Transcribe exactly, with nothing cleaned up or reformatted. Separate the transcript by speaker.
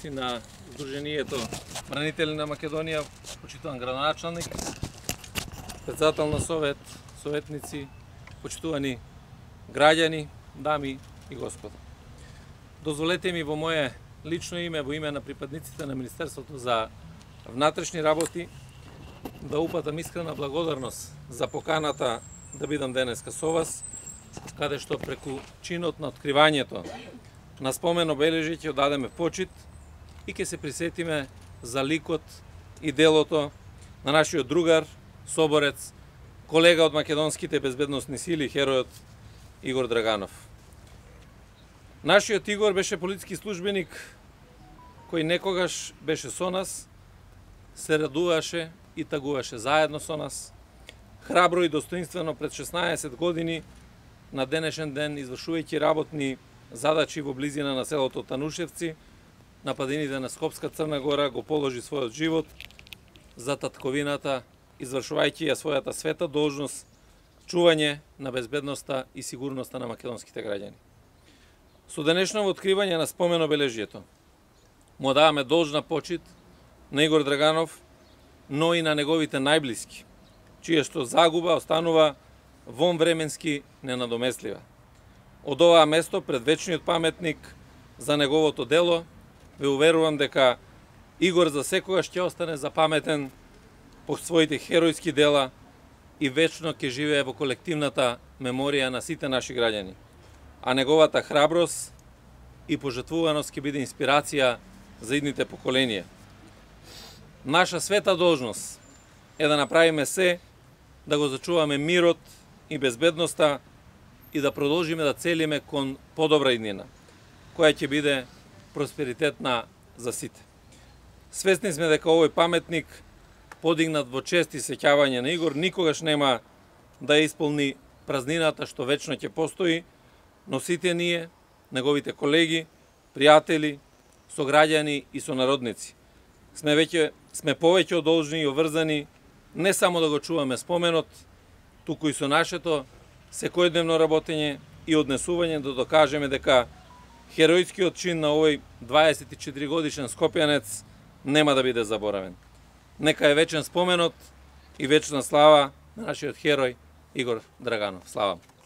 Speaker 1: на Сдруженијето Бранители на Македонија, почитуван градоначалник, председател на совет, советници, почитувани граѓани, дами и господа. Дозволете ми во моје лично име, во име на припадниците на Министерството за внатрешни работи, да упатам искрена благодарност за поканата да бидам денеска со вас, каде што преку чинот на откривањето на спомен обележје ќе одадеме почит и ќе се присетиме за ликот и делото на нашиот другар, соборец, колега од македонските безбедносни сили, херојот Игор Драганов. Нашиот Игор беше полициски службеник кој некогаш беше со нас, се радуваше и тагуваше заедно со нас, храбро и достоинствено пред шеснаесет години на денешен ден, извршувајќи работни задачи во близина на селото Танушевци, на падините на Скопска Црна Гора, го положи својот живот за татковината, извршувајќи ја својата света должност, чување на безбедноста и сигурноста на македонските граѓани. Со денешното откривање на спомен обележјето, му даваме должна почит на Игор Драганов, но и на неговите најблиски, чија што загуба останува вонвременски ненадомеслива. Од оваа место, пред вечниот паметник за неговото дело, ве уверувам дека Игор за секогаш ќе остане запаметен по своите херојски дела и вечно ќе живее во колективната меморија на сите наши граѓани, а неговата храброст и пожртвуваност ќе биде инспирација за идните поколенија. Наша света должност е да направиме се да го зачуваме мирот и безбедноста и да продолжиме да целиме кон подобра иднина, која ќе биде просперитетна за сите. Свесни сме дека овој паметник, подигнат во чест и сеќавање на Игор, никогаш нема да ја исполни празнината што вечно ќе постои, но сите ние, неговите колеги, пријатели, сограѓани и сонародници, сме веќе сме повеќе должни и обврзани не само да го чуваме споменот, туку и со нашето секојдневно работење и однесување да докажеме дека херојскиот чин на овој дваесет и четири годишен скопјанец нема да биде заборавен. Нека е вечен споменот и вечна слава на нашиот херој Игор Драганов. Слава!